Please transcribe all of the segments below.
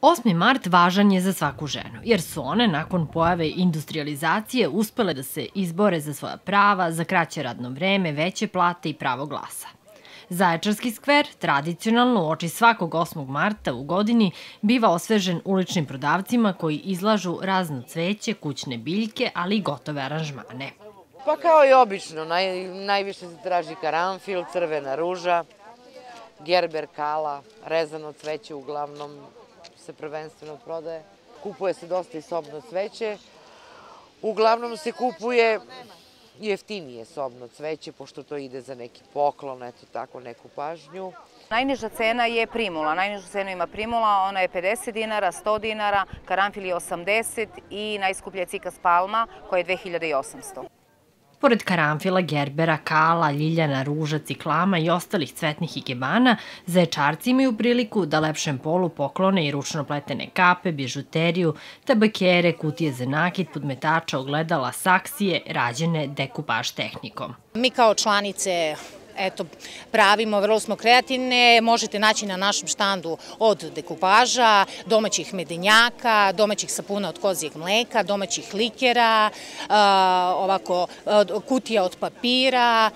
8. mart važan je za svaku ženu, jer su one nakon pojave industrializacije uspele da se izbore za svoja prava, za kraće radno vreme, veće plate i pravo glasa. Zaječarski skver, tradicionalno uoči svakog 8. marta u godini, biva osvežen uličnim prodavcima koji izlažu razno cveće, kućne biljke, ali i gotove aranžmane. Pa kao i obično, najviše se traži karanfil, crvena ruža, gerber, kala, rezano cveće uglavnom se prvenstveno prodaje. Kupuje se dosta i sobno cveće. Uglavnom se kupuje jeftinije sobno cveće, pošto to ide za neki poklon, eto tako, neku pažnju. Najniža cena je primula. Najnižu cenu ima primula, ona je 50 dinara, 100 dinara, karanfil je 80 i najskuplja je cikas palma koja je 2800. Pored karanfila, gerbera, kala, ljiljana, ruža, ciklama i ostalih cvetnih ikebana, zaječarci imaju priliku da lepšem polu poklone i ručno pletene kape, bižuteriju, tabakere, kutije za nakit, podmetača, ogledala, saksije, rađene dekupaž tehnikom. Mi kao članice pravimo, vrlo smo kreativne, možete naći na našem štandu od dekupaža, domaćih medenjaka, domaćih sapuna od kozijeg mleka, domaćih likera, kutija od papira,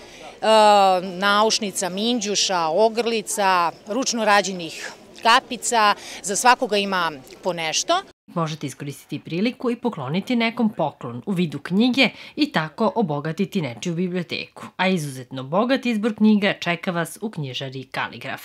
naušnica, minđuša, ogrlica, ručno rađenih kapica, za svakoga ima po nešto. Možete iskoristiti priliku i pokloniti nekom poklon u vidu knjige i tako obogatiti nečiju biblioteku. A izuzetno bogat izbor knjiga čeka vas u knjižari Kaligraf.